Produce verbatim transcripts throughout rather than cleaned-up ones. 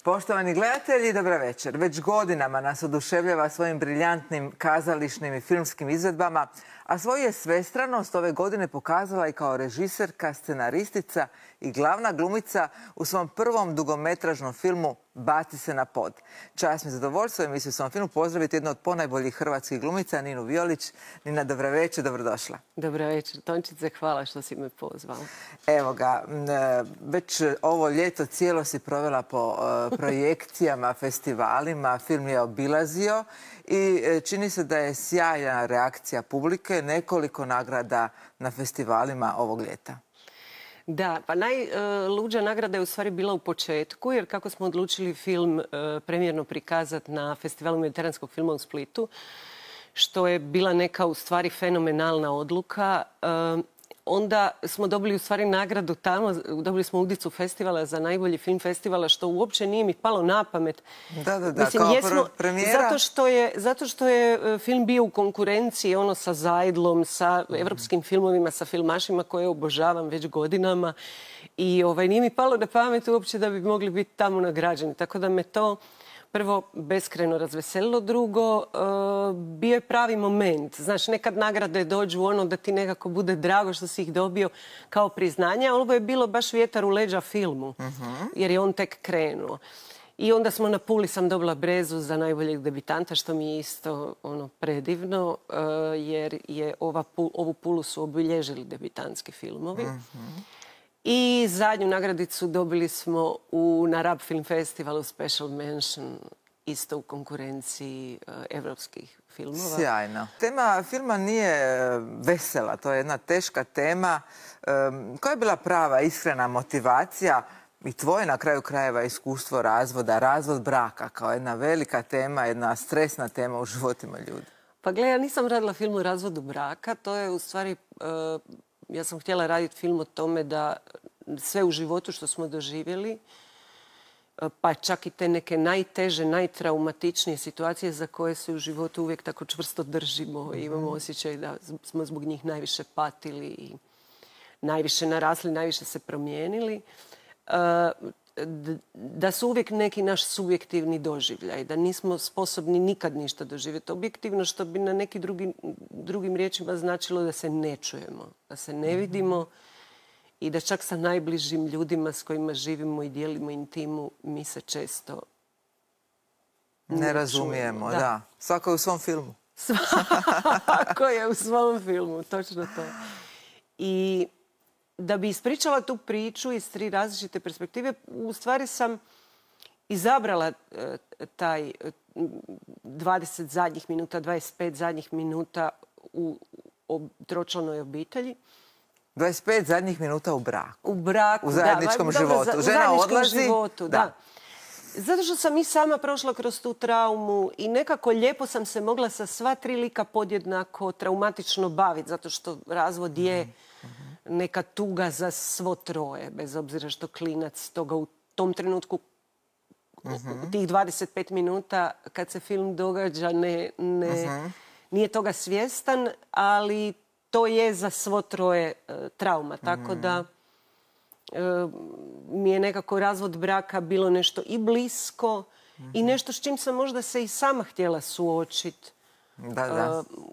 Poštovani gledatelji, dobra večer. Već godinama nas oduševljava svojim briljantnim kazališnim i filmskim izvedbama, a svoju je svestranost ove godine pokazala i kao režiserka, scenaristica i glavna glumica u svom prvom dugometražnom filmu Baci se na pod. Čast mi zadovoljstvo emisiju u svom filmu pozdraviti jednu od ponajboljih hrvatskih glumica, Ninu Violić. Nina, dobra večer, dobrodošla. Dobra večer, Tončice, hvala što si me pozvala. Evo ga, već ovo ljeto cijelo si provela po projekcijama, festivalima, film je obilazio i čini se da je sjajna reakcija publike, nekoliko nagrada na festivalima ovog ljeta. Da, pa najluđa nagrada je u stvari bila u početku, jer kako smo odlučili film premijerno prikazati na Festivalu mediteranskog filma u Splitu, što je bila neka u stvari fenomenalna odluka, onda smo dobili u stvari nagradu tamo, dobili smo udicu festivala za najbolji film festivala, što uopće nije mi palo na pamet. Da, da, da, Mislim, kao jesmo, premijera. Zato što, je, zato što je film bio u konkurenciji ono sa Zajdlom, sa evropskim filmovima, sa filmašima koje obožavam već godinama. I ovaj, nije mi palo na pamet uopće da bi mogli biti tamo nagrađeni. Tako da me to prvo beskrajno razveselilo, drugo, bio je pravi moment. Znaš, nekad nagrade dođu ono da ti nekako bude drago što si ih dobio kao priznanje, a ovo je bilo baš vjetar u leđa filmu, jer je on tek krenuo. I onda smo na Puli sam dobila Brezu za najboljeg debitanta, što mi je isto ono predivno, jer je ova, ovu Pulu su obilježili debitantski filmovi. I zadnju nagradicu dobili smo u, na Rab Film Festivalu Special Mention, isto u konkurenciji uh, evropskih filmova. Sjajno. Tema filma nije vesela, to je jedna teška tema. Um, koja je bila prava, iskrena motivacija i tvoje na kraju krajeva iskustvo razvoda, razvod braka kao jedna velika tema, jedna stresna tema u životima ljudi? Pa gle, ja nisam radila film o razvodu braka, to je u stvari... Uh, Ja sam htjela raditi film o tome da sve u životu što smo doživjeli, pa čak i te neke najteže, najtraumatičnije situacije za koje se u životu uvijek tako čvrsto držimo i imamo osjećaj da smo zbog njih najviše patili i najviše narasli, najviše se promijenili, da su uvijek neki naš subjektivni doživljaj, da nismo sposobni nikad ništa doživjeti objektivno, što bi na neki drugi, drugim riječima značilo da se ne čujemo, da se ne vidimo i da čak sa najbližim ljudima s kojima živimo i dijelimo intimu mi se često ne, ne razumijemo. Da. da. Svako je u svom filmu. Svako je u svom filmu, točno to. I da bi ispričala tu priču iz tri različite perspektive, u stvari sam izabrala taj dvadeset zadnjih minuta, dvadeset pet zadnjih minuta u tročlanoj obitelji. dvadeset pet zadnjih minuta u braku. U braku, u zajedničkom da, životu. Dobro, Žena u odlazi. Životu, da. da. Zato što sam i sama prošla kroz tu traumu i nekako lijepo sam se mogla sa sva tri lika podjednako traumatično baviti, zato što razvod je neka tuga za svo troje, bez obzira što klinac toga u tom trenutku, uh-huh. tih dvadeset pet minuta kad se film događa, ne, ne, uh-huh. nije toga svjestan, ali to je za svo troje uh, trauma. Tako uh-huh. da uh, mi je nekako razvod braka bilo nešto i blisko uh-huh. i nešto s čim sam možda se i sama htjela suočiti. Da, da. Uh,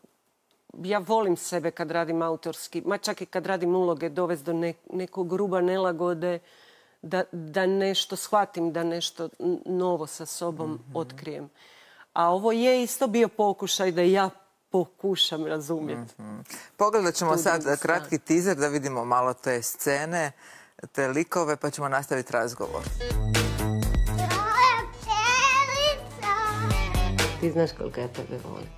Ja volim sebe kad radim autorski, ma čak i kad radim uloge, dovesti do ne, nekog gruba nelagode, da, da nešto shvatim, da nešto novo sa sobom mm-hmm. otkrijem. A ovo je isto bio pokušaj da ja pokušam razumjeti. Mm-hmm. Pogledat ćemo sad kratki teaser da vidimo malo te scene, te likove, pa ćemo nastaviti razgovor. Ti znaš koliko ja tebe volim.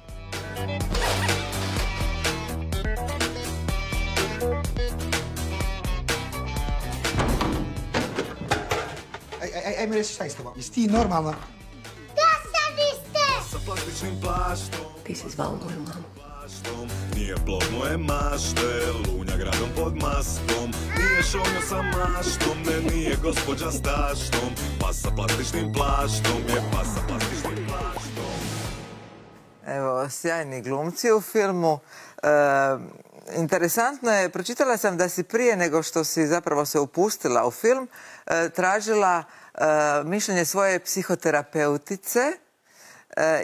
Aj mi reći šta je s tobom? Jesi ti normalna? Da sam iste! Sa plastičnim plaštom. Ti si zvao moju mamu. Nije plod moje mašte, lunja gradom pod maskom. Nije šonjo sa maštom, ne nije gospođa s taštom. Pa sa plastičnim plaštom, je pa sa plastičnim plaštom. Evo, sjajni glumci u filmu. E, interesantno je, pročitala sam da si prije nego što si zapravo se upustila u film, tražila mišljenje svoje psihoterapeutice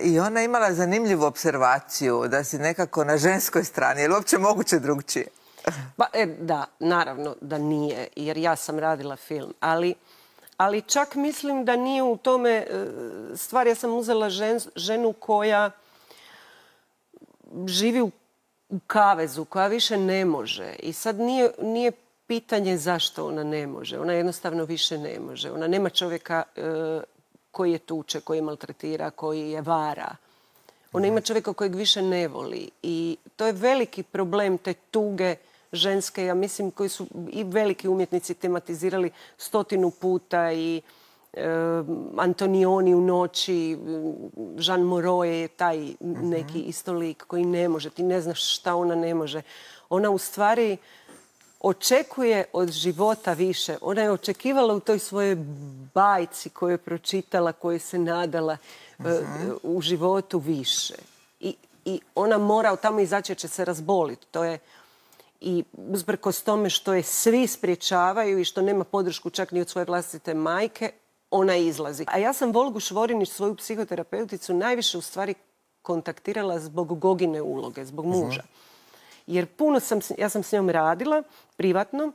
i ona je imala zanimljivu observaciju da si nekako na ženskoj strani. Je li uopće moguće drugčije? Pa, e, da, naravno da nije, jer ja sam radila film, ali, ali čak mislim da nije u tome stvar. Ja sam uzela žen, ženu koja živi u, u kavezu, koja više ne može. I sad nije, nije pitanje zašto ona ne može. Ona jednostavno više ne može. Ona nema čovjeka e, koji je tuče, koji je maltretira, koji je vara. Ona ima čovjeka kojeg više ne voli. I to je veliki problem te tuge ženske, ja mislim, koji su i veliki umjetnici tematizirali stotinu puta i e, Antonioni u noći, Jean Moreau je taj neki isto lik koji ne može. Ti ne znaš šta ona ne može. Ona u stvari očekuje od života više. Ona je očekivala u toj svojoj bajci koju je pročitala, koju se nadala uh, u životu više. I, i ona mora od tamo izaći jer će se razboliti. To je i uzbrkos tome što je svi spriječavaju i što nema podršku čak ni od svoje vlastite majke, ona izlazi. A ja sam Volgu Švorinić, svoju psihoterapeuticu, najviše u stvari kontaktirala zbog Gogine uloge, zbog muža. Jer puno sam, ja sam s njom radila privatno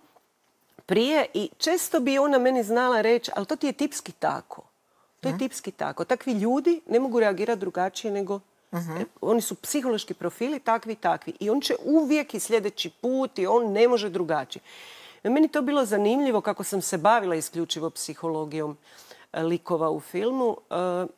prije i često bi ona meni znala reći, ali to ti je tipski tako. To je tipski tako. Takvi ljudi ne mogu reagirati drugačije nego Uh-huh. Oni su psihološki profili takvi i takvi. I on će uvijek i sljedeći put i on ne može drugačije. Meni to bilo zanimljivo kako sam se bavila isključivo psihologijom likova u filmu. Uh,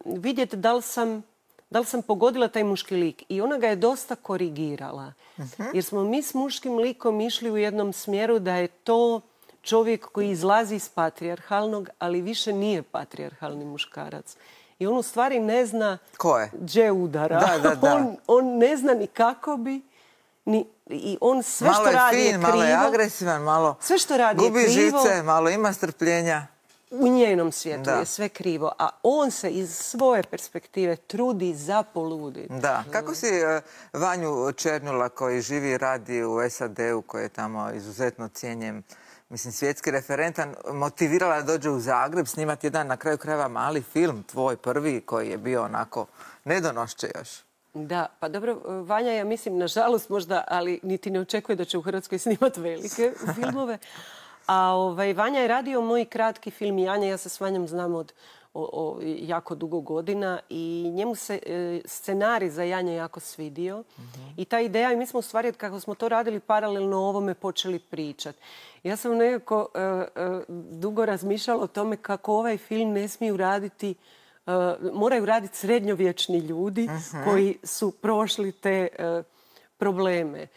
vidjeti da li sam, da li sam pogodila taj muški lik. I ona ga je dosta korigirala. Uh-huh. Jer smo mi s muškim likom išli u jednom smjeru da je to čovjek koji izlazi iz patrijarhalnog, ali više nije patrijarhalni muškarac. I on u stvari ne zna gdje udara. Da, da, da. On, on ne zna ni kako bi. Ni, I on sve malo što radi fin, je krivo. Malo je agresivan, malo sve što radi gubi je krivo, žice, malo ima strpljenja. U njenom svijetu da. je sve krivo. A on se iz svoje perspektive trudi za poluditi. Da. Kako si uh, Vanju Černjula koji živi i radi u S A D-u, koji je tamo izuzetno cijenjen, mislim, svjetski referentan, motivirala da dođe u Zagreb snimati jedan, na kraju krajeva, mali film, tvoj prvi, koji je bio onako nedonošće još. Da, pa dobro, Vanja, ja mislim, nažalost možda, ali niti ne očekuje da će u Hrvatskoj snimati velike filmove. A ovaj, Vanja je radio moj kratki film Janja. Ja se s Vanjom znam od o, o, jako dugo godina i njemu se e, scenarij za Janja jako svidio. Mm-hmm. I ta ideja, i mi smo u stvari, kako smo to radili paralelno ovome, počeli pričati. Ja sam nekako e, e, dugo razmišljala o tome kako ovaj film ne smiju raditi, e, moraju raditi srednjovječni ljudi uh-huh. koji su prošli te e, probleme. E,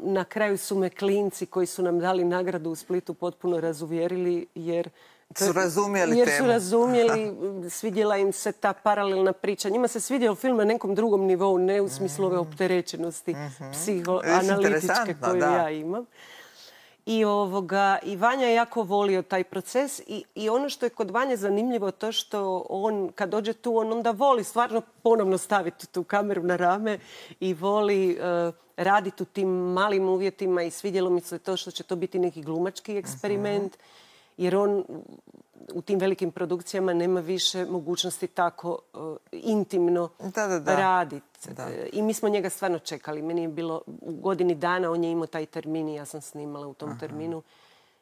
na kraju su me klinci koji su nam dali nagradu u Splitu potpuno razuvjerili jer su razumjeli jer temu. su razumjeli, svidjela im se ta paralelna priča. Njima se svidio film na nekom drugom nivou, ne u smislu ove opterećenosti mm-hmm. psihoanalitičke koju da. ja imam. I, ovoga, I Vanja je jako volio taj proces i, i ono što je kod Vanje zanimljivo to što on, kad dođe tu, on onda voli stvarno ponovno staviti tu kameru na rame i voli uh, raditi u tim malim uvjetima i svidjelo mi se to što će to biti neki glumački eksperiment. Uh-huh. Jer on u tim velikim produkcijama nema više mogućnosti tako uh, intimno da, da, da. raditi. I mi smo njega stvarno čekali. Meni je bilo u godini dana, on je imao taj termin i ja sam snimala u tom Aha. terminu.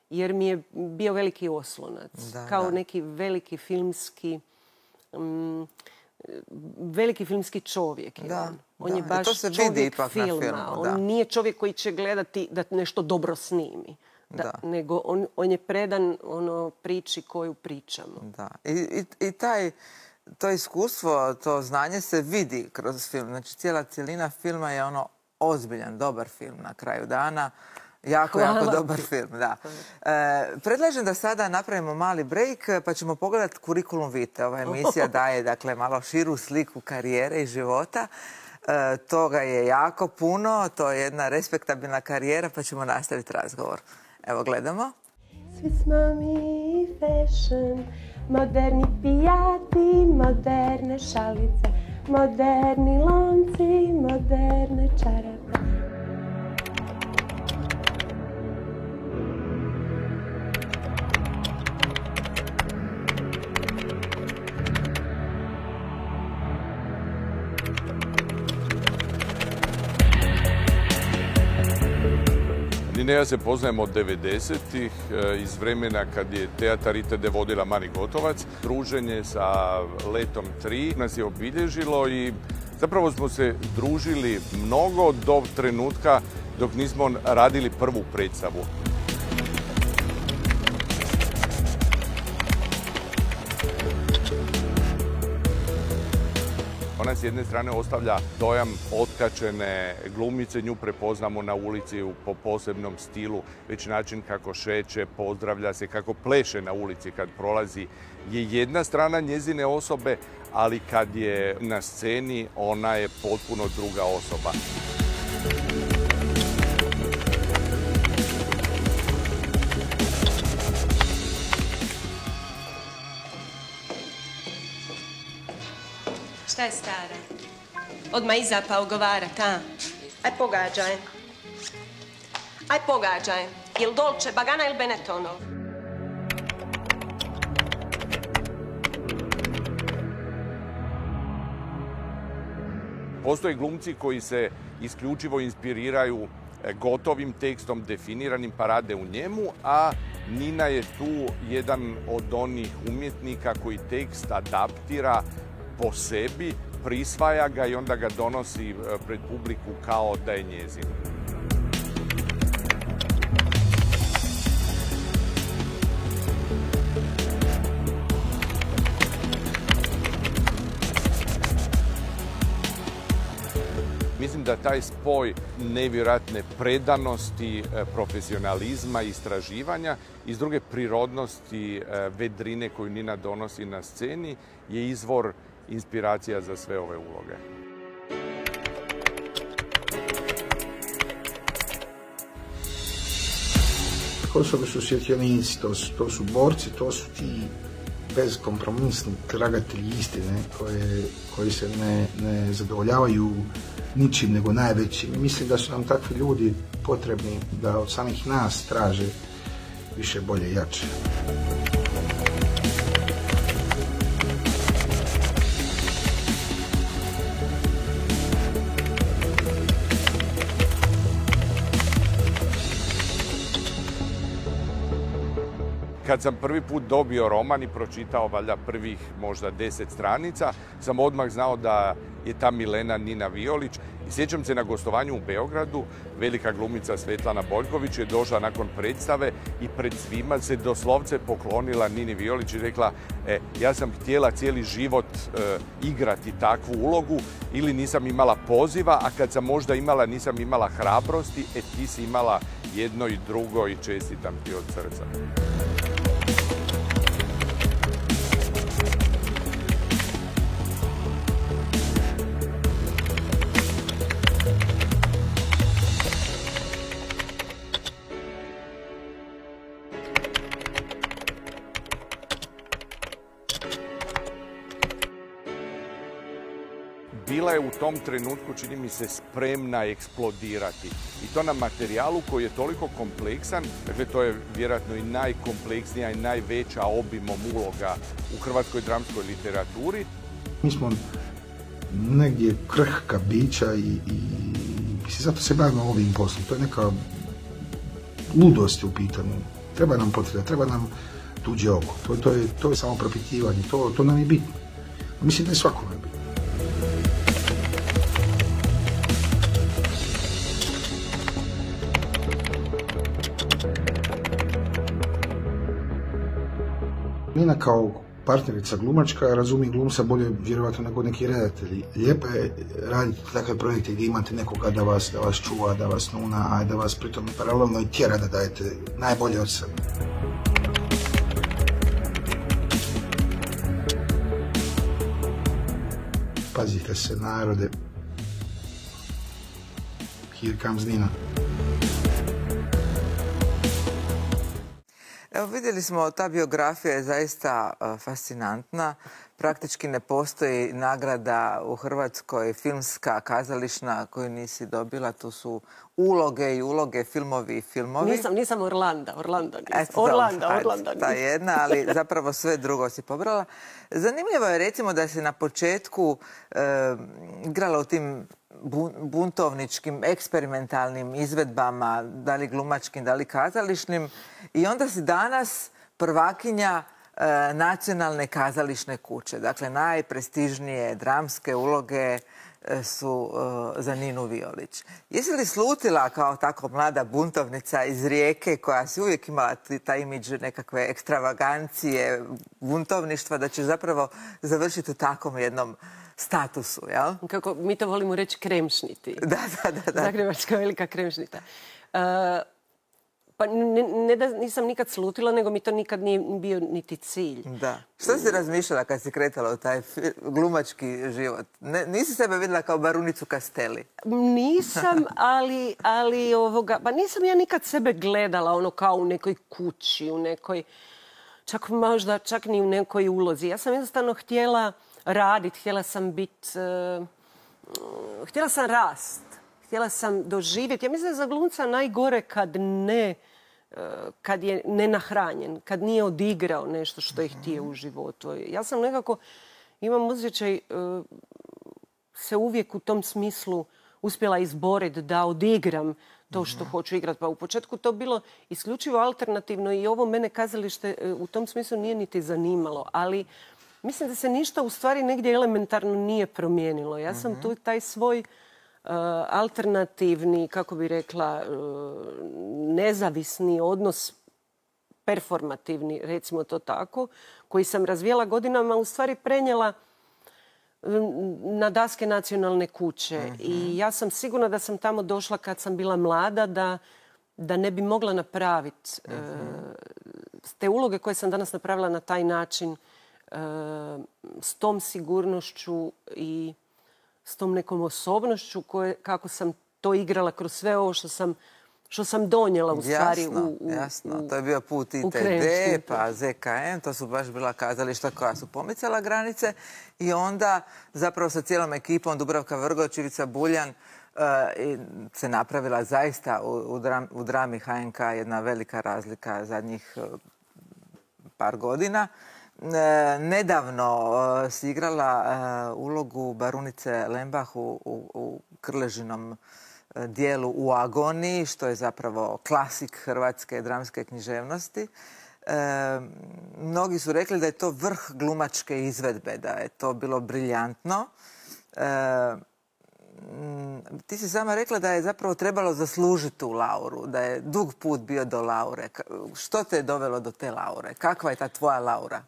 Jer mi je bio veliki oslonac. Da, kao da. neki veliki filmski... Um, veliki filmski čovjek je da, on. On da. je baš to se čovjek vidi ipak filma. Na filmu, on da. nije čovjek koji će gledati da nešto dobro snimi. Da, da. Nego on, on je predan ono priči koju pričamo. Da. I, i, i taj, to iskustvo, to znanje se vidi kroz film. Znači, cijela cijelina filma je ono ozbiljan, dobar film na kraju dana. Jako, Hvala. jako dobar film, da. E, predlažem da sada napravimo mali break pa ćemo pogledati Kurikulum Vitae. Ova emisija daje, dakle, malo širu sliku karijere i života. E, toga je jako puno, to je jedna respektabilna karijera pa ćemo nastaviti razgovor. Evo, gledamo. Svi smo mi fashion, moderni pijati, moderne šalice, moderni lonci, moderne čarape. Nina i ja se poznajemo od devedesetih iz vremena kad je Teatar Itede vodila Mari Gotovac. Druženje sa Letom tri nas je obilježilo i zapravo smo se družili mnogo do trenutka dok nismo radili prvu predstavu. Ona s jedne strane ostavlja dojam otkačene glumice, nju prepoznamo na ulici po posebnom stilu, već način kako šeće, pozdravlja se, kako pleše na ulici kad prolazi je jedna strana njezine osobe, ali kad je na sceni ona je potpuno druga osoba. Šta je stara? Odmah iza pa ogovarat, a? Aj pogađaj. Aj pogađaj. Jel Dolce Bagana ili Benettonov? Postoje glumci koji se isključivo inspiriraju gotovim tekstom, definiranim, pa rade u njemu, a Nina je tu jedan od onih umjetnika koji tekst adaptira po sebi, prisvaja ga i onda ga donosi pred publiku kao da je njezin. Mislim da taj spoj nevjerojatne predanosti, profesionalizma, istraživanja i s druge prirodnosti, vedrine koju Nina donosi na sceni je izvor inspiracija za sve ove uloge. Osobe su svjetionici, to su, to su borci, to su ti bezkompromisni tragatelji istine koje, koji se ne, ne zadovoljavaju ničim nego najvećim. Mislim da su nam takvi ljudi potrebni da od samih nas traže više, bolje i jače. Kad sam prvi put dobio roman i pročitao valjda prvih možda deset stranica, sam odmah znao da je ta Milena Nina Violić. I sjećam se na gostovanju u Beogradu, velika glumica Svetlana Boljković je došla nakon predstave i pred svima se doslovce poklonila Nini Violić i rekla e, ja sam htjela cijeli život e, igrati takvu ulogu ili nisam imala poziva, a kad sam možda imala nisam imala hrabrosti, e ti si imala jedno i drugo i čestitam ti od srca. Bila je u tom trenutku, čini mi se, spremna eksplodirati. I to na materijalu koji je toliko kompleksan, dakle to je vjerojatno i najkompleksnija i najveća obimom uloga u hrvatskoj dramskoj literaturi. Mi smo negdje krhka bića i, i, i zato se bavimo ovim poslom. To je neka ludost u pitanju. Treba nam potreba, treba nam tuđe oko. To, to, je, to je samo propitivanje, to, to nam je bitno. Mislim da je svakome bitno. Nina kao partnerica glumačka razumije glumca bolje vjerovatno nego neki redatelji. Lijepo je raditi takve projekte gdje imate nekoga da vas, da vas čuva, da vas nuna, a da vas pritom paralelno i tjera da dajete najbolje od sebe. Pazite se, narode. Here comes Nina. Evo, vidjeli smo, ta biografija je zaista uh, fascinantna. Praktički ne postoji nagrada u Hrvatskoj, filmska, kazališna, koju nisi dobila. Tu su uloge i uloge, filmovi i filmovi. Nisam, nisam Orlanda, Orlando nisam. Eto, Orlando, ajde, Orlando nisam. Ta jedna, ali zapravo sve drugo si pobrala. Zanimljivo je recimo da si na početku e, igrala u tim buntovničkim, eksperimentalnim izvedbama, da li glumačkim, da li kazališnim. I onda si danas prvakinja e, nacionalne kazališne kuće. Dakle, najprestižnije dramske uloge e, su e, za Ninu Violić. Jesi li slutila kao tako mlada buntovnica iz Rijeke, koja si uvijek imala taj imidž nekakve ekstravagancije, buntovništva, da će zapravo završiti u takvom jednom statusu, jel? Kako mi to volimo reći, kremšniti. Da, da, da. da. Zagrebačka velika kremšnita. Uh, pa ne, ne da nisam nikad slutila, nego mi to nikad nije bio niti cilj. Da. Što si razmišljala kad si kretala u taj glumački život? Ne, nisi sebe vidjela kao barunicu Castelli? Nisam, ali, ali ovoga, pa nisam ja nikad sebe gledala ono kao u nekoj kući, u nekoj, čak možda, čak ni u nekoj ulozi. Ja sam jednostavno htjela raditi, htjela sam biti, uh, htjela sam rast, htjela sam doživjeti. Ja mislim da je za glumca najgore kad ne, uh, kad je nenahranjen, kad nije odigrao nešto što je htio u životu. Ja sam nekako, imam osjećaj, uh, se uvijek u tom smislu uspjela izboriti da odigram to što hoću igrati. Pa u početku to bilo isključivo alternativno i ovo mene kazalište uh, u tom smislu nije niti zanimalo, ali mislim da se ništa u stvari negdje elementarno nije promijenilo. Ja sam tu taj svoj uh, alternativni, kako bi rekla, uh, nezavisni odnos, performativni, recimo to tako, koji sam razvijela godinama, u stvari prenijela na daske nacionalne kuće. Uh-huh. I ja sam sigurna da sam tamo došla kad sam bila mlada, da, da ne bi mogla napraviti uh-huh. uh, te uloge koje sam danas napravila na taj način, s tom sigurnošću i s tom nekom osobnošću koje, kako sam to igrala kroz sve ovo što sam, što sam donijela u stvari. Jasno, u, u, jasno. To je bio put I T D, pa Z K M, to su baš bila kazališta koja su pomicala granice i onda zapravo sa cijelom ekipom Dubravka Vrgoč, Ivica Buljan uh, se napravila zaista u, u, dram, u drami H N K jedna velika razlika zadnjih uh, par godina. E, nedavno e, si igrala e, ulogu barunice Lembach u, u, u Krležinom e, dijelu U agoniji, što je zapravo klasik hrvatske dramske književnosti. E, mnogi su rekli da je to vrh glumačke izvedbe, da je to bilo briljantno. E, ti si sama rekla da je zapravo trebalo zaslužiti tu lauru, da je dug put bio do laure. Što te je dovelo do te laure? Kakva je ta tvoja laura?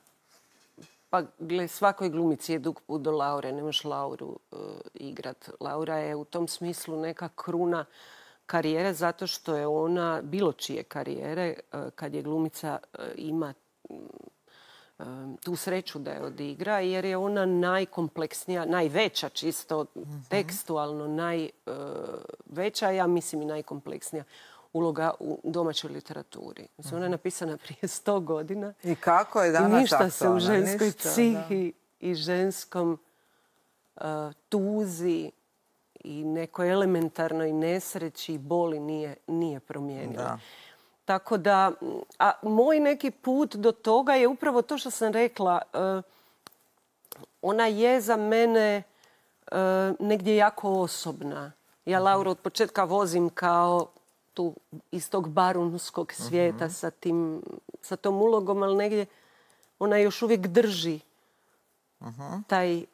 Pa, gle, svakoj glumici je dug put do laure. Ne možeš lauru uh, igrat. Laura je u tom smislu neka kruna karijere, zato što je ona, bilo čije karijere, uh, kad je glumica uh, ima uh, tu sreću da je odigra, jer je ona najkompleksnija, najveća čisto, mm-hmm. tekstualno najveća, uh, ja mislim i najkompleksnija uloga u domaćoj literaturi. Mislim, ona je napisana prije sto godina. I kako je danas I ništa aktualna, se u ženskoj ništa, psihi da. I ženskom uh, tuzi i nekoj elementarnoj nesreći i boli nije, nije promijenila. Da. Tako da, a moj neki put do toga je upravo to što sam rekla. Uh, ona je za mene uh, negdje jako osobna. Ja Lauru od početka vozim kao tu iz tog barunskog svijeta uh-huh. sa, tim, sa tom ulogom, ali negdje ona još uvijek drži uh-huh. taj uh,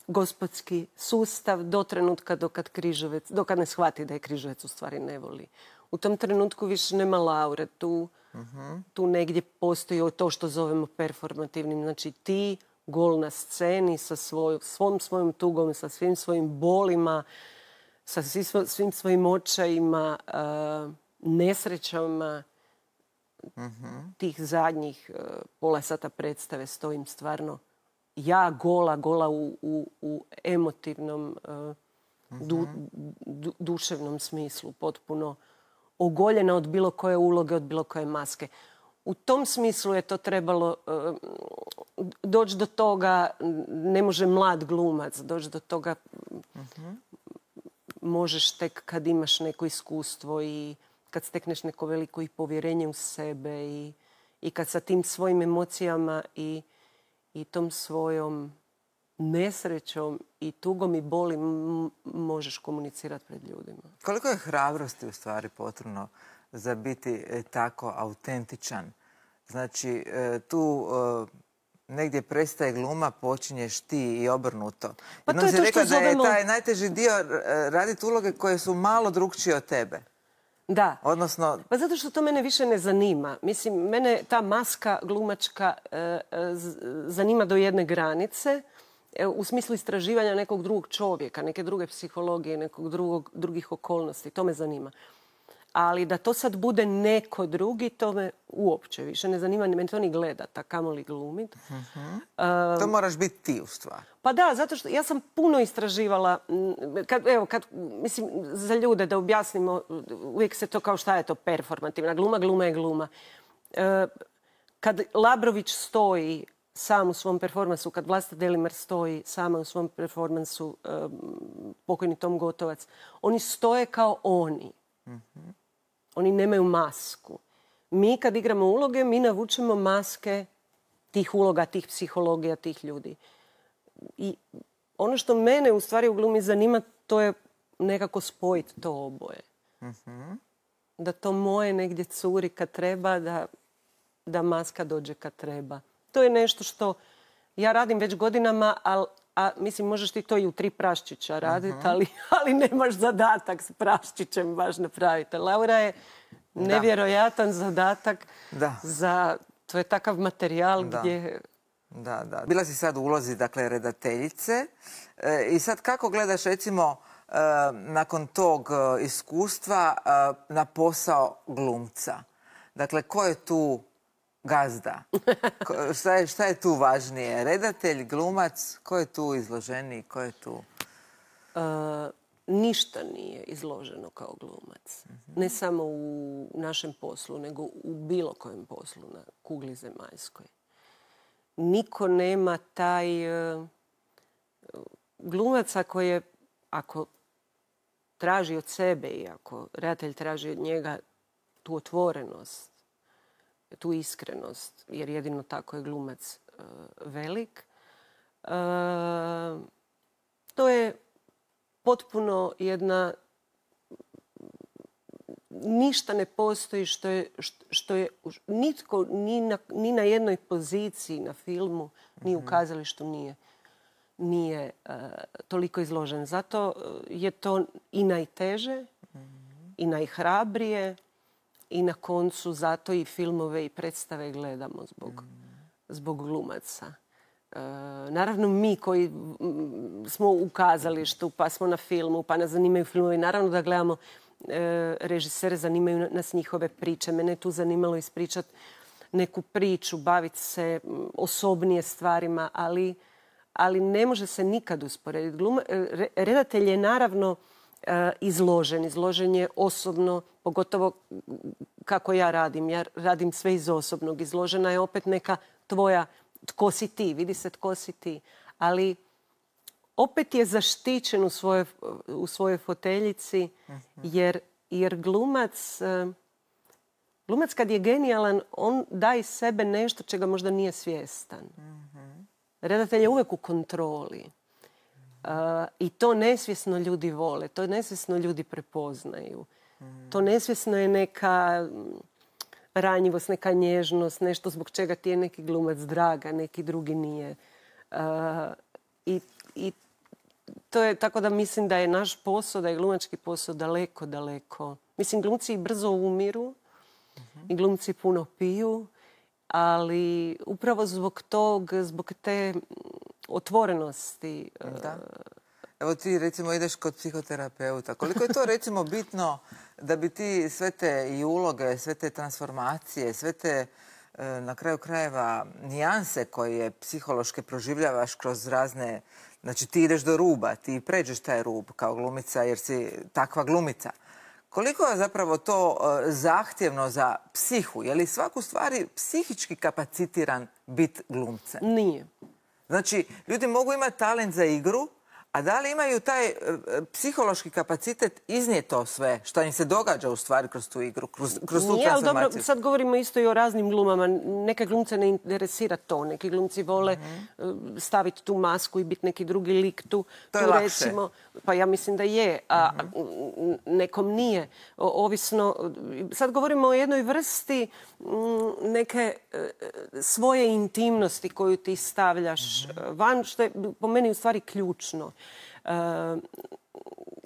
gospodski sustav do trenutka dokad Križevec, dokad ne shvati da je Križevec u stvari ne voli. U tom trenutku više nema Laure. Tu, uh-huh. tu negdje postoji to što zovemo performativnim. Znači ti gol na sceni sa svoj, svom svojom tugom, sa svim svojim bolima, sa svim svojim očajima, uh, nesrećama uh-huh. tih zadnjih uh, pola sata predstave stojim stvarno ja gola, gola u, u, u emotivnom, uh, du, du, duševnom smislu, potpuno ogoljena od bilo koje uloge, od bilo koje maske. U tom smislu je to trebalo uh, doći do toga, ne može mlad glumac doći do toga, uh-huh. možeš tek kad imaš neko iskustvo i kad stekneš neko veliko i povjerenje u sebe i, i kad sa tim svojim emocijama i, i tom svojom nesrećom i tugom i boli možeš komunicirati pred ljudima. Koliko je hrabrosti u stvari potrebno za biti tako autentičan? Znači, tu negdje prestaje gluma, počinješ ti i obrnuto. Pa to je to što zovemo... da je taj najteži dio raditi uloge koje su malo drugčije od tebe. Da. Odnosno... Pa zato što to mene više ne zanima. Mislim, mene ta maska glumačka zanima do jedne granice. U smislu istraživanja nekog drugog čovjeka, neke druge psihologije, nekog drugog, drugih okolnosti. To me zanima. Ali da to sad bude neko drugi, to me uopće više ne zanima. Meni to ni gledat, a kamoli glumit. Uh-huh. Uh, to moraš biti ti u stvari. Pa da, zato što ja sam puno istraživala. Kad, evo, kad, mislim, za ljude da objasnimo, uvijek se to kao šta je to performativna gluma, gluma je gluma. Uh, kad Labrović stoji sam u svom performansu, kad Vlasta Delimer stoji sama u svom performansu, um, pokojni Tom Gotovac, oni stoje kao oni. Uh-huh. Oni nemaju masku. Mi kad igramo uloge, mi navučemo maske tih uloga, tih psihologija, tih ljudi. I ono što mene u stvari u glumi zanima, to je nekako spojiti to oboje. Uh-huh. Da to moje negdje curi kad treba, da, da maska dođe kad treba. To je nešto što ja radim već godinama, ali a mislim, možeš ti to i u tri praščića raditi, uh-huh. ali, ali nemaš zadatak s praščićem baš napraviti. Laura je nevjerojatan da. zadatak da. za... To je takav materijal da. gdje... Da, da. Bila si sad u ulozi, dakle, redateljice. E, I sad kako gledaš, recimo, e, nakon tog e, iskustva e, na posao glumca? Dakle, ko je tu gazda? Ko, šta, je, šta je tu važnije? Redatelj, glumac? Ko je tu izloženiji? Ko je tu... Uh, ništa nije izloženo kao glumac. Mm-hmm. Ne samo u našem poslu, nego u bilo kojem poslu na kugli zemaljskoj. Niko nema taj... Uh, glumac ako je... Ako traži od sebe i ako redatelj traži od njega tu otvorenost, tu iskrenost, jer jedino tako je glumac uh, velik. Uh, to je potpuno jedna... Ništa ne postoji što je... Što je nitko ni na, ni na jednoj poziciji na filmu, ni u kazalištu nije, nije uh, toliko izložen. Zato je to i najteže, mm-hmm. i najhrabrije, i na koncu zato i filmove i predstave gledamo zbog, mm. zbog glumaca. E, naravno mi koji m, smo u kazalištu, pa smo na filmu, pa nas zanimaju filmovi, naravno da gledamo e, režisere, zanimaju nas njihove priče. Mene je tu zanimalo ispričati neku priču, baviti se osobnije stvarima, ali, ali ne može se nikad usporediti. Gluma, re, redatelj je naravno izložen. Izložen je osobno, pogotovo kako ja radim. Ja radim sve iz osobnog. Izložena je opet neka tvoja, tko si ti, vidi se tko si ti. Ali opet je zaštićen u svojoj, u svojoj foteljici, jer, jer glumac, glumac kad je genijalan, on da iz sebe nešto čega možda nije svjestan. Redatelj je uvijek u kontroli. Uh, I to nesvjesno ljudi vole, to nesvjesno ljudi prepoznaju. Mm. To nesvjesno je neka ranjivost, neka nježnost, nešto zbog čega ti je neki glumac draga, neki drugi nije. Uh, i, I to je tako da mislim da je naš posao, da je glumački posao daleko, daleko. Mislim, glumci brzo umiru mm-hmm. i glumci puno piju, ali upravo zbog tog, zbog te otvorenosti. Da. Evo ti recimo ideš kod psihoterapeuta. Koliko je to recimo bitno da bi ti sve te i uloge, sve te transformacije, sve te na kraju krajeva nijanse koje psihološke proživljavaš kroz razne... Znači ti ideš do ruba, ti pređeš taj rub kao glumica jer si takva glumica. Koliko je zapravo to zahtjevno za psihu? Je li svaku stvari psihički kapacitiran bit glumcem? Nije. Znači, ljudi mogu imati talent za igru, A da li imaju taj e, psihološki kapacitet iznijeti to sve što im se događa u stvari kroz tu igru, kroz, kroz tu Nije, ali transformaciju? dobro, sad govorimo isto i o raznim glumama. Neke glumce ne interesira to. Neki glumci vole mm-hmm. staviti tu masku i biti neki drugi lik tu. To je tu lakše. Recimo, pa ja mislim da je, a mm-hmm. nekom nije. O, ovisno, sad govorimo o jednoj vrsti m, neke e, svoje intimnosti koju ti stavljaš mm-hmm. van, što je po meni u stvari ključno. E,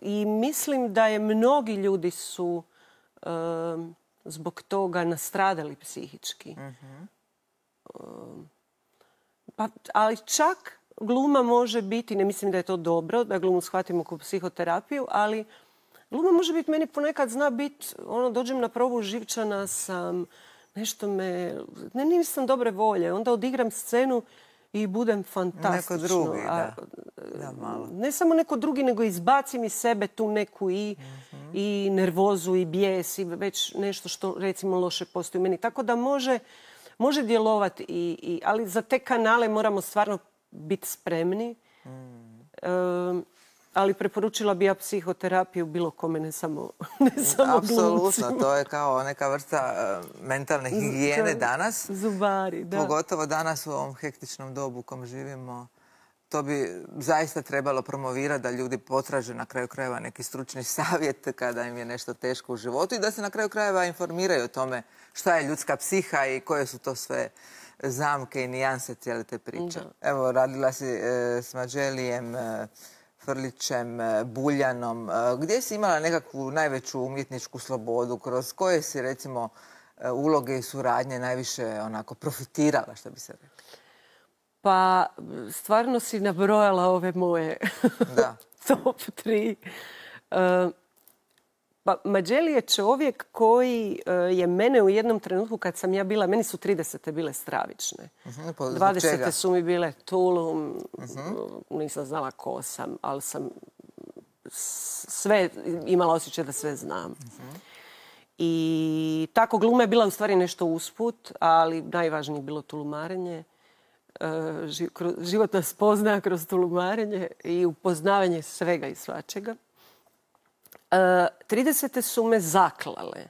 I mislim da je mnogi ljudi su e, zbog toga nastradali psihički. Mm-hmm. E, pa, ali čak gluma može biti, ne mislim da je to dobro, da glumu shvatimo kao psihoterapiju, ali gluma može biti, meni ponekad zna biti, ono, dođem na probu, živčana sam, nešto me, ne, nisam dobre volje, onda odigram scenu i budem fantastično. Neko drugi, da. Da, malo. Ne samo neko drugi, nego izbacim iz sebe tu neku i, mm-hmm. i nervozu i bijes i već nešto što recimo loše postoji u meni. Tako da može, može djelovati, i, i, ali za te kanale moramo stvarno biti spremni. Mm. E, ali preporučila bi ja psihoterapiju bilo kome, ne samo, ne samo Apsolutno, glumcima. to je kao neka vrsta uh, mentalne higijene danas. Zubari, da. Pogotovo danas u ovom hektičnom dobu u kom živimo. To bi zaista trebalo promovirati da ljudi potraže na kraju krajeva neki stručni savjet kada im je nešto teško u životu i da se na kraju krajeva informiraju o tome šta je ljudska psiha i koje su to sve zamke i nijanse cijele te priče. Da. Evo, radila si e, s Mađelijem, e, Frljićem, e, Buljanom. E, gdje si imala nekakvu najveću umjetničku slobodu? Kroz koje si, recimo, e, uloge i suradnje najviše onako profitirala, što bi se rekla? Pa, stvarno si nabrojala ove moje da. top tri. Uh, pa, Mađeli je čovjek koji uh, je mene u jednom trenutku kad sam ja bila, meni su tridesete bile stravične. Uh-huh, dvadesete su mi bile Tulum, uh-huh. nisam znala ko sam, ali sam sve, imala osjećaj da sve znam. Uh-huh. I tako gluma je bila u stvari nešto usput, ali najvažnije je bilo tulumarenje. Životna spoznaja kroz tulumarenje i upoznavanje svega i svačega. tridesete su me zaklale.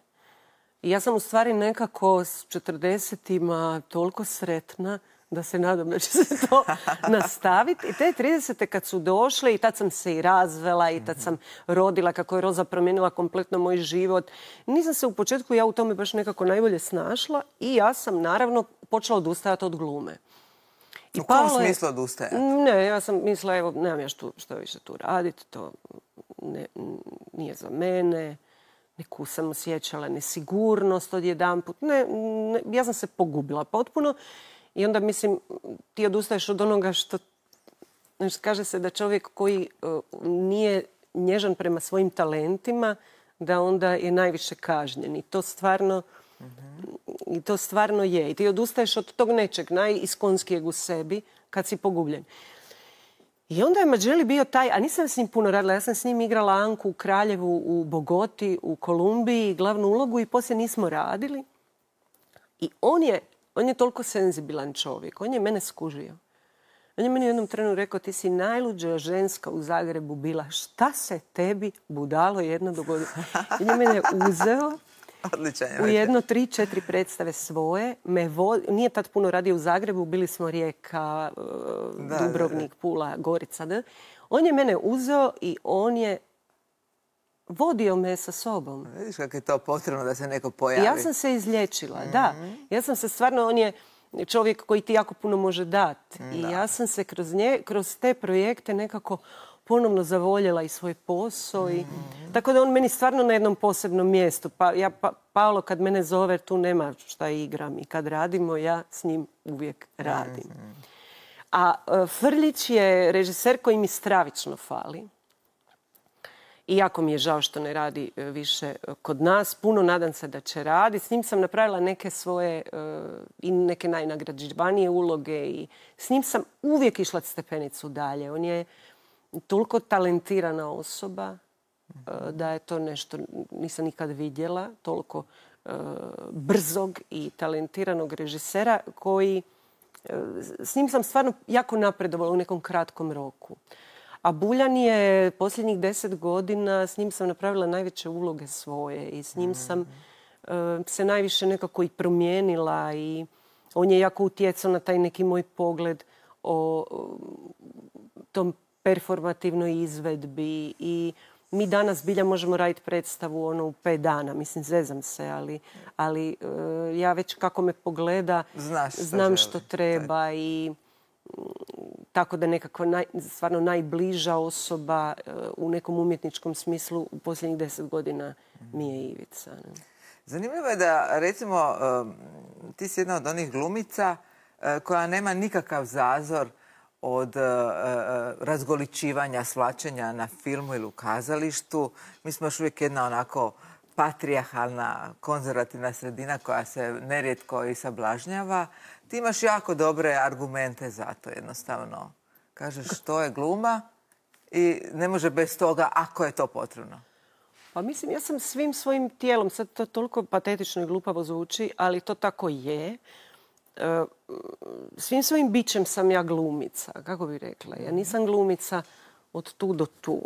I ja sam u stvari nekako s četrdesetima toliko sretna da se nadam da će se to nastaviti. I te tridesete kad su došle, i tad sam se i razvela, i tad sam rodila, kako je Roza promijenila kompletno moj život. Nisam se u početku ja u tome baš nekako najbolje snašla i ja sam naravno počela odustajati od glume. I u kom smislu odustajati? Ne, ja sam mislila, evo, nemam ja što, što više tu raditi, to ne, nije za mene. Neku sam osjećala nesigurnost odjedanput. Ne, ne, ja sam se pogubila potpuno. I onda, mislim, ti odustaješ od onoga što... Znači, kaže se da čovjek koji uh, nije nježan prema svojim talentima, da onda je najviše kažnjen. I to stvarno... Mm-hmm. I to stvarno je. I ti odustaješ od tog nečeg najiskonskijeg u sebi kad si pogubljen. I onda je Mađeli bio taj, a nisam s njim puno radila, ja sam s njim igrala Anku u Kraljevu, u Bogoti, u Kolumbiji, glavnu ulogu i poslije nismo radili. I on je, on je toliko senzibilan čovjek, on je mene skužio. On je meni u jednom trenu rekao, ti si najluđa ženska u Zagrebu bila, šta se tebi budalo jedno dogodilo? I on je mene uzeo. Odličan, u jedno tri, četiri predstave svoje. Me vo... Nije tad puno radio u Zagrebu, bili smo Rijeka, da, Dubrovnik, da, da. Pula, Gorica. Da? On je mene uzeo i on je vodio me sa sobom. Vidiš kako je to potrebno da se neko pojavi. Ja sam se izlječila, mm-hmm. da. Ja sam se stvarno, on je čovjek koji ti jako puno može dati. Mm, I ja sam se kroz, nje, kroz te projekte nekako ponovno zavoljela i svoj posao. I... Mm-hmm. Tako da on meni stvarno na jednom posebnom mjestu. Pa, ja, pa, Paolo kad mene zove, tu nema šta igram. I kad radimo, ja s njim uvijek radim. Mm-hmm. A uh, Frljić je režiser koji mi stravično fali. I jako mi je žao što ne radi uh, više uh, kod nas. Puno nadam se da će raditi. S njim sam napravila neke svoje uh, i neke najnagrađivanije uloge. I s njim sam uvijek išla stepenicu dalje. On je toliko talentirana osoba da je to nešto nisam nikad vidjela. Toliko uh, brzog i talentiranog režisera koji... Uh, s njim sam stvarno jako napredovala u nekom kratkom roku. A Buljan je posljednjih deset godina, s njim sam napravila najveće uloge svoje i s njim sam uh, se najviše nekako i promijenila i on je jako utjecao na taj neki moj pogled o, o tom performativnoj izvedbi i mi danas bilja možemo raditi predstavu ono u pet dana. Mislim, zezam se, ali, ali uh, ja već kako me pogleda Znaš što znam želi. što treba i tako da nekako naj, stvarno najbliža osoba uh, u nekom umjetničkom smislu u posljednjih deset godina mi je Ivica. Ne? Zanimljivo je da, recimo, um, ti si jedna od onih glumica uh, koja nema nikakav zazor od uh, uh, razgoličivanja, svlačenja na filmu ili u kazalištu. Mi smo još uvijek jedna onako patrijarhalna, konzervativna sredina koja se nerijetko i sablažnjava. Ti imaš jako dobre argumente za to, jednostavno. Kažeš to je gluma i ne može bez toga ako je to potrebno. Pa mislim, ja sam svim svojim tijelom, sad to toliko patetično i glupavo zvuči, ali to tako je. Svim svojim bićem sam ja glumica, kako bi rekla. Ja nisam glumica od tu do tu.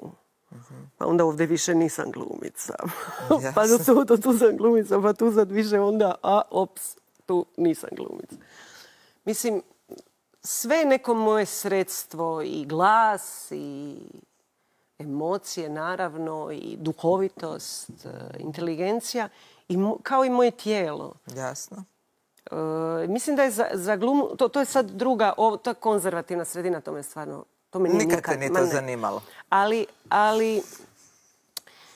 Pa onda ovdje više nisam glumica. Pa do tu do tu sam glumica, pa tu sad više onda, a ops, tu nisam glumica. Mislim, sve je neko moje sredstvo i glas i emocije, naravno, i duhovitost, inteligencija, i kao i moje tijelo. Jasno. Uh, mislim da je za, za glumu, to, to je sad druga, ovo, to je konzervativna sredina, to me stvarno, to me nije nikad. Nikad te nije to zanimalo. Ali, ali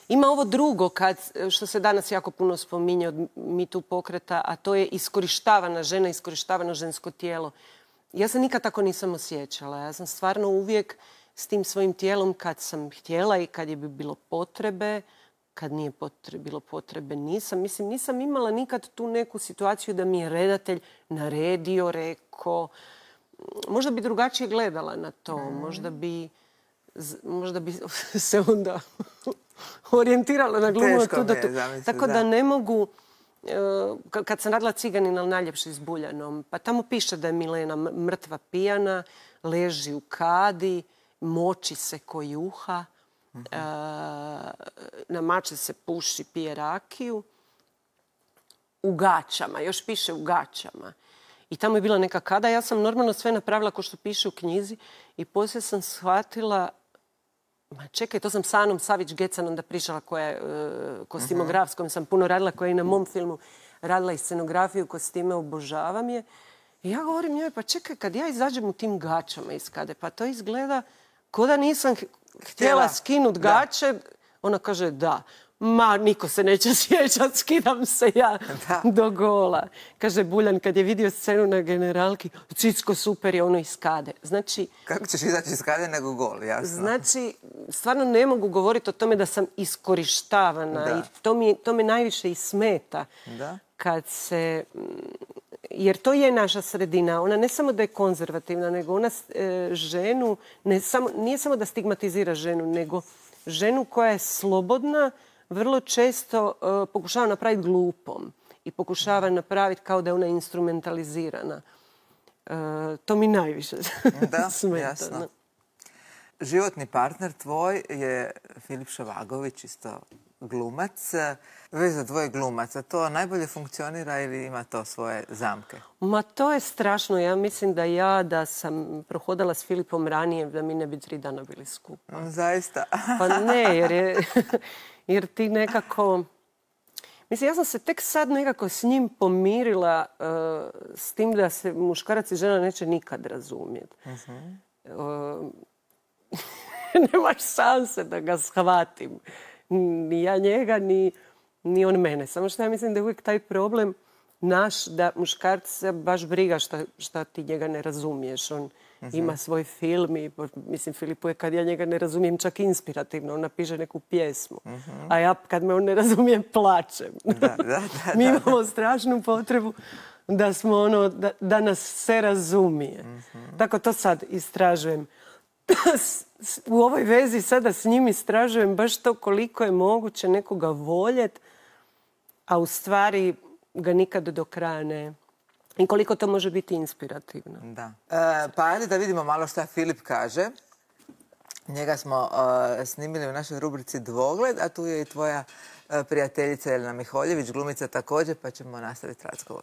ima ovo drugo, kad, što se danas jako puno spominje od Me Too pokreta, a to je iskorištavana žena, iskorištavano žensko tijelo. Ja se nikad tako nisam osjećala. Ja sam stvarno uvijek s tim svojim tijelom kad sam htjela i kad je bi bilo potrebe, kad nije potrebe, bilo potrebe, nisam. Mislim, nisam imala nikad tu neku situaciju da mi je redatelj naredio, rekao. Možda bi drugačije gledala na to. Mm. Možda bi, možda bi se onda orijentirala na glumu. Teško mi je, zamisli, tako da. da ne mogu... Kad sam radila Ciganina najljepši s Buljanom, pa tamo piše da je Milena mrtva pijana, leži u kadi, moči se ko juha, uh-huh. na mače se puši, pije rakiju, u gaćama, još piše u gaćama. I tamo je bila neka kada, ja sam normalno sve napravila kao što piše u knjizi i poslije sam shvatila, ma čekaj, to sam sa Anom Savić-Gecan onda pričala koja je uh, kostimograf s kojom sam puno radila, koja je i na mom filmu radila i scenografiju, kostime, obožavam je. I ja govorim njoj, pa čekaj, kad ja izađem u tim gaćama iz kade, pa to izgleda ko da nisam htjela skinut gaće. Ona kaže da. Ma, niko se neće sjećat, skidam se ja da. do gola. Kaže Buljan, kad je vidio scenu na Generalki, Cicko super je ono iz kade. Znači... Kako ćeš izaći iz kade nego gol, jasno. Znači, stvarno ne mogu govoriti o tome da sam iskorištavana. Da. I to mi, to me najviše i smeta. Da. Kad se... Jer to je naša sredina. Ona ne samo da je konzervativna, nego ona e, ženu... Ne samo, nije samo da stigmatizira ženu, nego ženu koja je slobodna, vrlo često uh, pokušava napraviti glupom i pokušava napraviti kao da je ona instrumentalizirana. Uh, to mi najviše da, smeta. Jasno. No. Životni partner tvoj je Filip Šovagović, isto glumac. Veza dvoje glumaca, to najbolje funkcionira ili ima to svoje zamke? Ma to je strašno. Ja mislim da ja da sam prohodala s Filipom ranije, da mi ne bi tri dana bili skupa. Zaista? Pa ne, jer je... Jer ti nekako... Mislim, ja sam se tek sad nekako s njim pomirila uh, s tim da se muškarac i žena neće nikad razumjeti. Uh-huh. Uh, nemaš šanse da ga shvatim. Ni ja njega, ni, ni on mene. Samo što ja mislim da je uvijek taj problem naš, da muškarca baš briga šta, šta ti njega ne razumiješ. On uh-huh. ima svoj film i, mislim, Filipu je kad ja njega ne razumijem čak inspirativno. On napiše neku pjesmu. Uh-huh. A ja kad me on ne razumije, plačem. Da, da, da, Mi imamo da. strašnu potrebu da smo ono, da, da nas se razumije. Uh-huh. Tako to sad istražujem. U ovoj vezi sada s njim istražujem baš to koliko je moguće nekoga voljeti, a u stvari ga nikad do kraja ne... I koliko to može biti inspirativno. Da. E, pa ajde da vidimo malo šta Filip kaže. Njega smo uh, snimili u našoj rubrici Dvogled, a tu je i tvoja uh, prijateljica Jelena Miholjević, glumica također, pa ćemo nastaviti razgovor.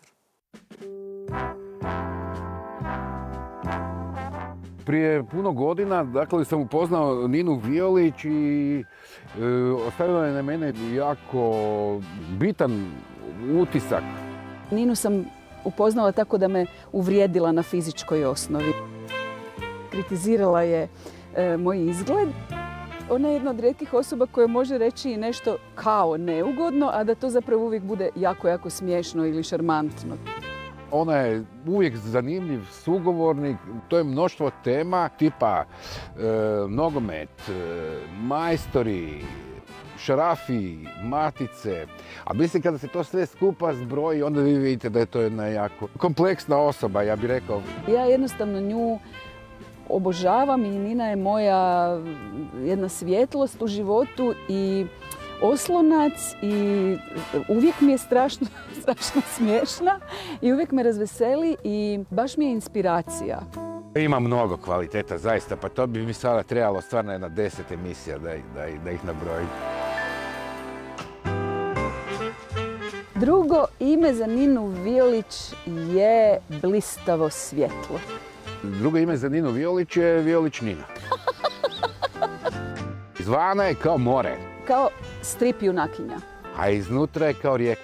Prije puno godina, dakle, sam upoznao Ninu Violić i e, ostavila je na mene jako bitan utisak. Ninu sam upoznala tako da me uvrijedila na fizičkoj osnovi. Kritizirala je e, moj izgled. Ona je jedna od rijetkih osoba koja može reći nešto kao neugodno, a da to zapravo uvijek bude jako, jako smiješno ili šarmantno. Ona je uvijek zanimljiv sugovornik, to je mnoštvo tema tipa e, nogomet, e, majstori, šarafi, matice. A mislim kada se to sve skupa zbroji, onda vi vidite da je to jedna jako kompleksna osoba, ja bih rekao. Ja jednostavno nju obožavam i Nina je moja jedna svjetlost u životu i oslonac i uvijek mi je strašno, strašno smiješna i uvijek me razveseli i baš mi je inspiracija. Ima mnogo kvaliteta, zaista, pa to bi mi sada trebalo stvarno jedna deset emisija da, da, da ih nabrojim. Drugo ime za Ninu Violić je blistavo svjetlo. Drugo ime za Ninu Violić je Violić Nina. Izvana je kao more. Kao strip junakinja. A iznutra je kao rijeka.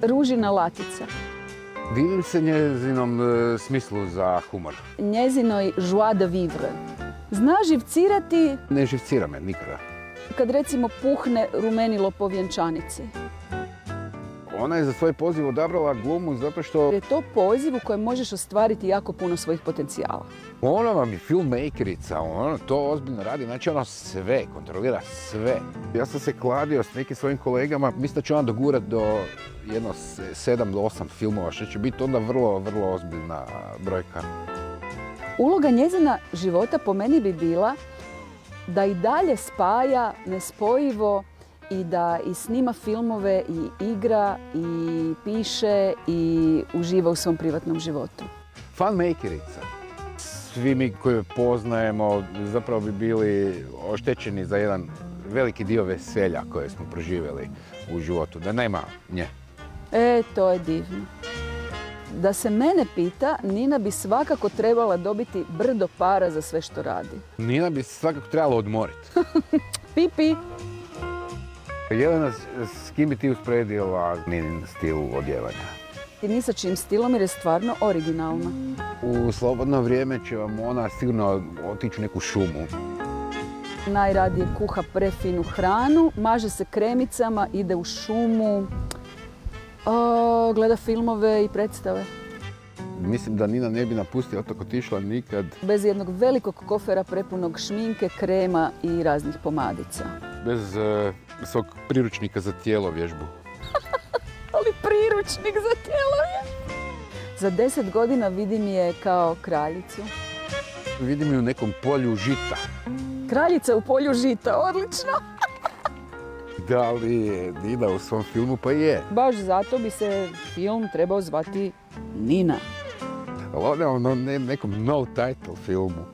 Ružina latica. Divim se njezinom e, smislu za humor. Njezinoj joie de vivre. Zna živcirati... Ne živcira me nikada. Kad recimo puhne rumenilo po vjenčanici. Ona je za svoj poziv odabrala glumu zato što... Je to poziv u kojem možeš ostvariti jako puno svojih potencijala. Ona vam je filmmakerica, ona to ozbiljno radi, znači ona sve, kontrolira sve. Ja sam se kladio s nekim svojim kolegama, mislim da će ona dogurat do jedno sedam do osam filmova, što će biti onda vrlo, vrlo ozbiljna brojka. Uloga njezina života po meni bi bila da i dalje spaja nespojivo i da i snima filmove i igra i piše i uživa u svom privatnom životu. Funmakerica. Svi mi koji poznajemo zapravo bi bili oštećeni za jedan veliki dio veselja koje smo proživjeli u životu, da nema nje. E, to je divno. Da se mene pita, Nina bi svakako trebala dobiti brdo para za sve što radi. Nina bi se svakako trebala odmoriti. Pipi! Jelena, s kim bi ti usporedila Ninin stil odjevanja? I ni sa čim stilom jer je stvarno originalna. U slobodno vrijeme će vam ona sigurno otići u neku šumu. Najradije kuha prefinu hranu, maže se kremicama, ide u šumu, o, gleda filmove i predstave. Mislim da Nina ne bi napustila otok otišla nikad. Bez jednog velikog kofera prepunog šminke, krema i raznih pomadica. Bez uh, svog priručnika za tjelovježbu. Ali priručnik za tjelovježbu! Za deset godina vidim je kao kraljicu. Vidim je u nekom polju žita. Kraljica u polju žita, odlično! Da li je Nina u svom filmu? Pa je. Baš zato bi se film trebao zvati Nina. Ali ona je na nekom no title filmu.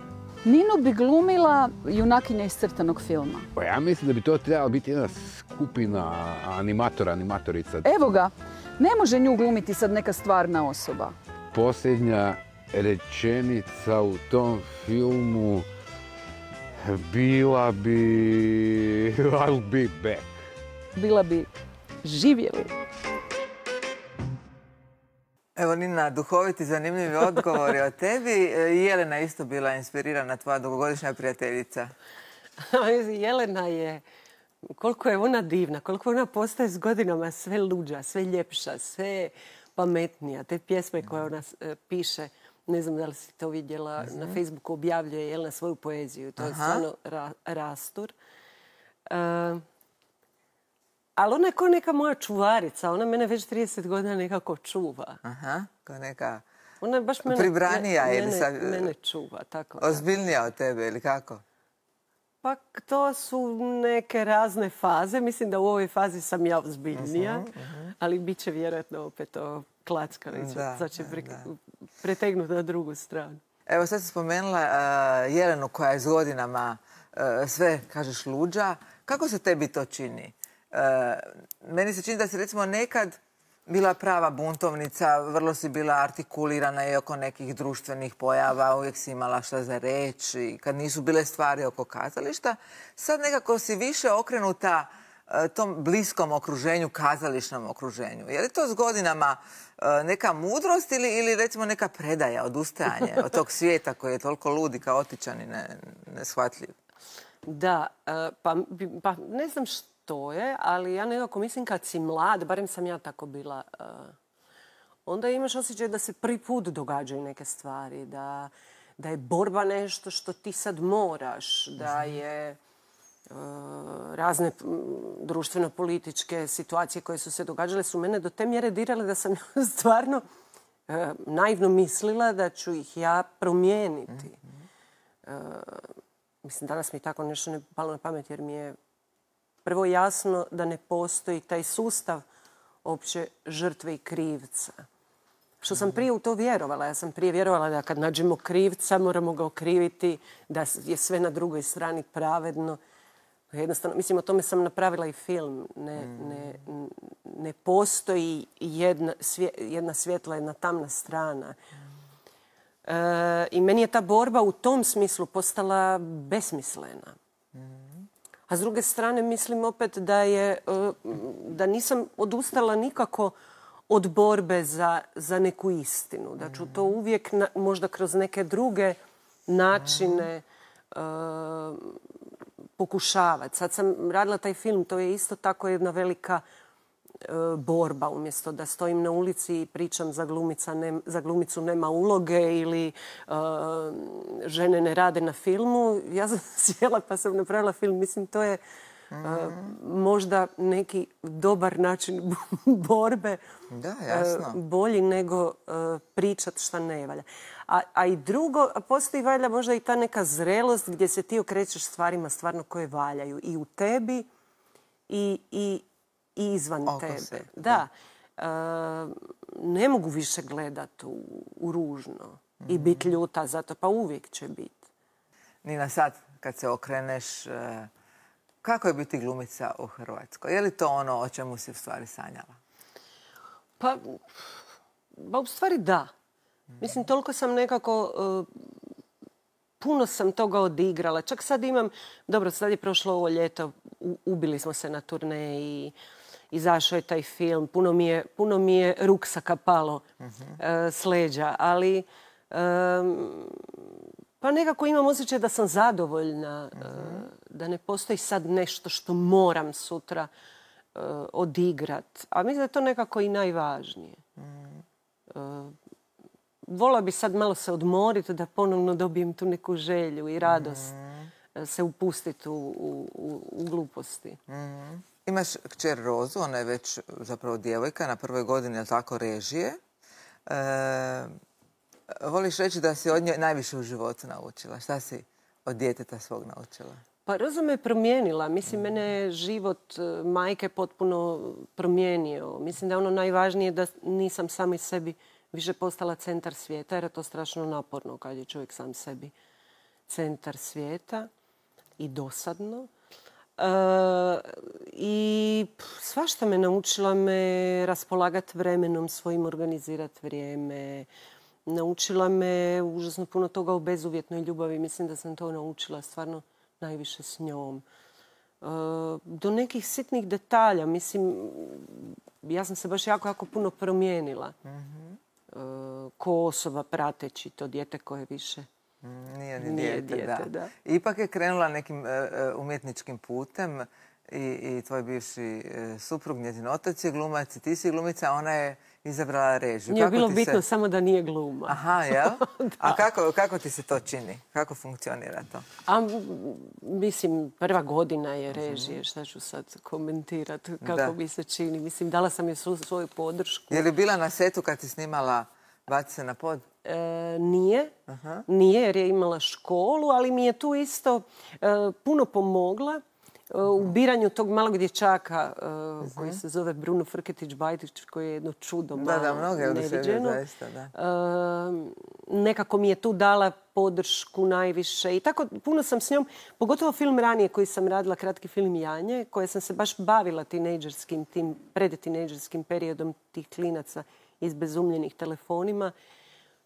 Ninu bi glumila junakinja iz crtanog filma. Pa ja mislim da bi to trebala biti jedna skupina animatora, animatorica. Evo ga, ne može nju glumiti sad neka stvarna osoba. Posljednja rečenica u tom filmu bila bi I'll be back. Bila bi živjeli. Evo, Nina, duhoviti, zanimljivi odgovori o tebi. Jelena isto bila inspirirana, tvoja dugogodišnja prijateljica. Jelena je, koliko je ona divna, koliko ona postaje s godinama sve luđa, sve ljepša, sve pametnija. Te pjesme koje ona piše, ne znam da li si to vidjela, na Facebooku objavljuje Jelena svoju poeziju. To je stvarno ra, rastur. Uh, ali ona je kao neka moja čuvarica. Ona mene već trideset godina nekako čuva. Aha, kao neka ona je baš mene, pribranija mene, ili sa, mene čuva. Tako, ozbiljnija od tebe ili kako? Pa to su neke razne faze. Mislim da u ovoj fazi sam ja ozbiljnija. Uh-huh, uh-huh. Ali bit će vjerojatno opet to klackavića. Sad će pre, pretegnuti na drugu stranu. Evo, sad si spomenula uh, Jelenu koja je s godinama sve, kažeš, luđa. Kako se tebi to čini? Meni se čini da si recimo nekad bila prava buntovnica, vrlo si bila artikulirana i oko nekih društvenih pojava, uvijek si imala šta za reći, kad nisu bile stvari oko kazališta. Sad nekako si više okrenuta tom bliskom okruženju, kazališnom okruženju. Je li to s godinama neka mudrost ili, ili recimo neka predaja, odustajanje od tog svijeta koji je toliko lud i kaotičan i ne, neshvatljiv? Da, pa, pa ne znam što je, ali ja nekako mislim kad si mlad, barem sam ja tako bila, onda imaš osjećaj da se prvi put događaju neke stvari, da, da je borba nešto što ti sad moraš, da je razne društveno-političke situacije koje su se događale su mene do te mjere dirale da sam stvarno naivno mislila da ću ih ja promijeniti. Mislim, danas mi tako nešto ne palo na pamet jer mi je prvo jasno da ne postoji taj sustav opće žrtve i krivca. Što sam prije u to vjerovala. Ja sam prije vjerovala da kad nađemo krivca moramo ga okriviti, da je sve na drugoj strani pravedno. Jednostavno, mislim, o tome sam napravila i film. Ne, ne, ne postoji jedna, svje, jedna svjetla, jedna tamna strana. E, I meni je ta borba u tom smislu postala besmislena. A s druge strane mislim opet da je, da nisam odustala nikako od borbe za, za neku istinu. Da ću to uvijek na, možda kroz neke druge načine uh, pokušavati. Sad sam radila taj film, to je isto tako jedna velika uh, borba. Umjesto da stojim na ulici i pričam za, glumica ne, za glumicu nema uloge ili uh, žene ne rade na filmu. Ja sam sjela pa sam napravila film. Mislim, to je uh, možda neki dobar način borbe. Da, jasno. Uh, bolji nego uh, pričat šta ne valja. A, a i drugo, postoji valjda možda i ta neka zrelost gdje se ti okrećeš stvarima stvarno koje valjaju. I u tebi i, i, i izvan Oko tebe. se, Da. da. Uh, ne mogu više gledati u, u ružno mm-hmm. i biti ljuta zato, pa uvijek će biti. Nina, sad kad se okreneš, uh, kako je biti glumica u Hrvatskoj? Je li to ono o čemu si u stvari sanjala? Pa, ba, u stvari da. Mislim, toliko sam nekako, uh, puno sam toga odigrala. Čak sad imam, dobro, sad je prošlo ovo ljeto, u, ubili smo se na turneji i izašao je taj film. Puno mi je, puno mi je ruksaka palo uh-huh. uh, s leđa, ali um, pa nekako imam osjećaj da sam zadovoljna, uh-huh. uh, da ne postoji sad nešto što moram sutra uh, odigrat. A mislim da je to nekako i najvažnije. Uh-huh. Uh, Vola bi sad malo se odmoriti da ponovno dobijem tu neku želju i radost mm. se upustiti u, u, u gluposti. Mm. Imaš kćer Rozu, ona je već zapravo djevojka, na prvoj godini, je tako, režije. E, voliš reći da si od nje najviše u životu naučila? Šta si od djeteta svog naučila? Pa Roza me promijenila. Mislim, mm. mene je život majke potpuno promijenio. Mislim da je ono najvažnije da nisam sama iz sebi više postala centar svijeta, jer je to strašno naporno kad je čovjek sam sebi centar svijeta i dosadno. E, I svašta me naučila me raspolagati vremenom, svojim organizirati vrijeme. Naučila me užasno puno toga o bezuvjetnoj ljubavi. Mislim da sam to naučila stvarno najviše s njom. E, do nekih sitnih detalja. Mislim, ja sam se baš jako, jako puno promijenila. Mm-hmm. Ko osoba prateći to dijete koje više nije ni nije dijete. dijete da. Da. Ipak je krenula nekim uh, umjetničkim putem i, i tvoj bivši uh, suprug, njezin otac je glumac i ti si glumica, ona je izabrala režiju. Nije bilo bitno se... samo da nije gluma. Aha, jel? A kako, kako ti se to čini? Kako funkcionira to? A, mislim, prva godina je režije. Šta ću sad komentirati? Kako da. mi se čini? Mislim, dala sam joj svoju podršku. Je li bila na setu kad si snimala Baci se na pod? E, nije. Aha. Nije jer je imala školu, ali mi je tu isto e, puno pomogla. u biranju tog malog dječaka uh, koji se zove Bruno Frketić-Bajtić, koji je jedno čudo malo da, da, mnoge neviđeno. Zaista, da. Uh, nekako mi je tu dala podršku najviše i tako puno sam s njom, pogotovo film ranije koji sam radila, kratki film Janje, koje sam se baš bavila tinejdžerskim, tim predtinejdžerskim periodom tih klinaca izbezumljenih telefonima.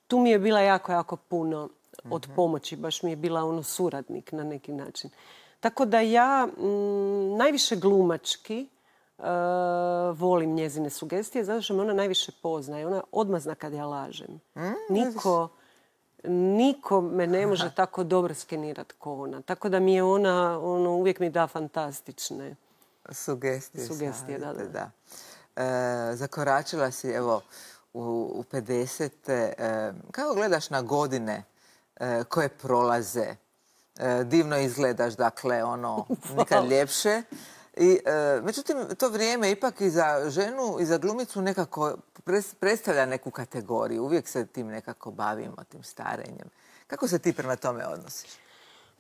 Tu mi je bila jako, jako puno od pomoći. Baš mi je bila ono suradnik na neki način. Tako da ja m, najviše glumački uh, volim njezine sugestije, zato što me ona najviše poznaje. Ona odmah zna kad ja lažem. Niko, niko me ne može tako dobro skenirati kao ona. Tako da mi je ona, ono, uvijek mi da fantastične sugestije. Sugestije, da, da. da. E, zakoračila si, evo, u, u pedesete. E, kako gledaš na godine e, koje prolaze? E, divno izgledaš, dakle, ono, nikad ljepše. I, e, međutim, to vrijeme ipak i za ženu i za glumicu nekako predstavlja neku kategoriju. Uvijek se tim nekako bavimo, tim starenjem. Kako se ti prema tome odnosiš?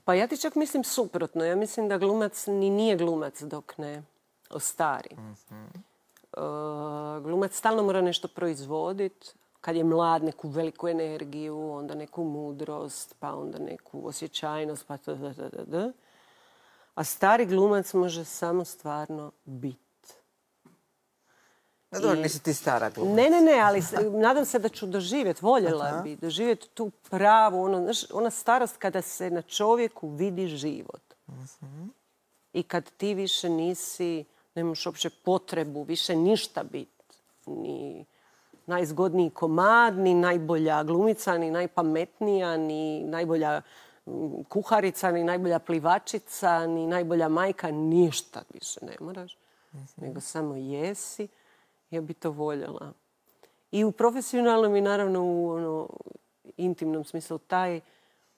Pa ja ti čak mislim suprotno. Ja mislim da glumac ni nije glumac dok ne ostari. Mm-hmm. Uh, glumac stalno mora nešto proizvoditi. Kad je mlad, neku veliku energiju, onda neku mudrost, pa onda neku osjećajnost, pa da, da, da, da. A stari glumac može samo stvarno biti. No dobro, nisi ti stara glumac. Ne, ne, ne, ali nadam se da ću doživjeti, voljela Aha. bi, doživjeti tu pravu, ono, znaš, ona starost kada se na čovjeku vidi život. Uh-huh. I kad ti više nisi, nemaš uopće potrebu više ništa biti. Ni najzgodniji komad, ni najbolja glumica, ni najpametnija, ni najbolja kuharica, ni najbolja plivačica, ni najbolja majka. Ništa više ne moraš. Uh-huh. Nego samo jesi. Ja bi to voljela. I u profesionalnom i naravno u ono, intimnom smislu taj,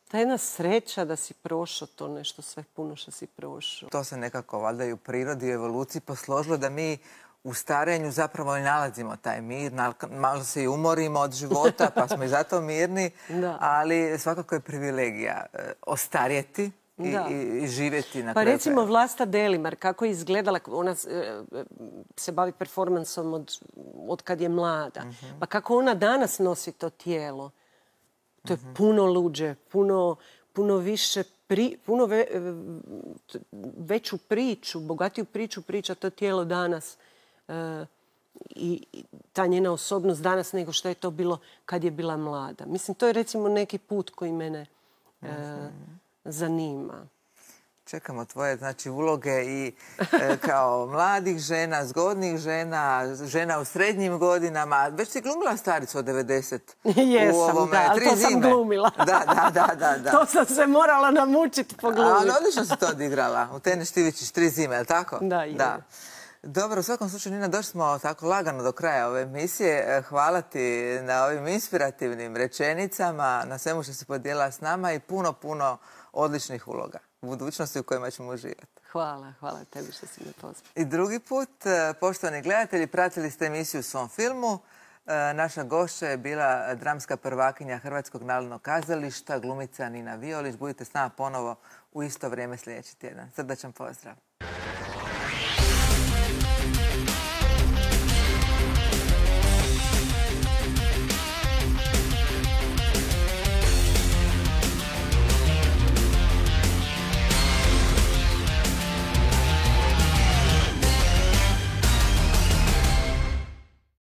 ta jedna sreća da si prošao to nešto sve puno što si prošao. To se nekako valjda i u prirodi i evoluciji posložilo da mi u starenju zapravo i nalazimo taj mir. Malo se i umorimo od života pa smo i zato mirni. Da. Ali svakako je privilegija ostarjeti. I, i, i živjeti na Pa kraju. recimo Vlasta Delimar, kako je izgledala, ona se bavi performansom od, od kad je mlada. Uh-huh. Pa kako ona danas nosi to tijelo. To je uh-huh. puno luđe, puno, puno više, pri, puno ve, veću priču, bogatiju priču priča to tijelo danas. E, i, i ta njena osobnost danas nego što je to bilo kad je bila mlada. Mislim, to je recimo neki put koji mene uh-huh. e, zanima. Čekamo tvoje, znači, uloge i e, kao mladih žena, zgodnih žena, žena u srednjim godinama. Već si glumila staricu od devedeset. Jesam, u ovome, da, ali tri to zime. sam glumila. Da, da, da, da, da. To sam se morala namučiti poglumiti. Ali odlično si to odigrala. U Tene Štivičić, tri zime, je li tako? Da, je. Da. Dobro, u svakom slučaju, Nina, došli smo tako lagano do kraja ove emisije. Hvala ti na ovim inspirativnim rečenicama, na svemu što si podijelila s nama i puno, puno odličnih uloga u budućnosti u kojima ćemo uživati. Hvala, hvala tebi što si me pozvao. I drugi put, poštovani gledatelji, pratili ste emisiju Svom filmu. Naša gošća je bila dramska prvakinja Hrvatskog narodnog kazališta, glumica Nina Violić. Budite s nama ponovo u isto vrijeme sljedeći tjedan. Srdačan pozdrav.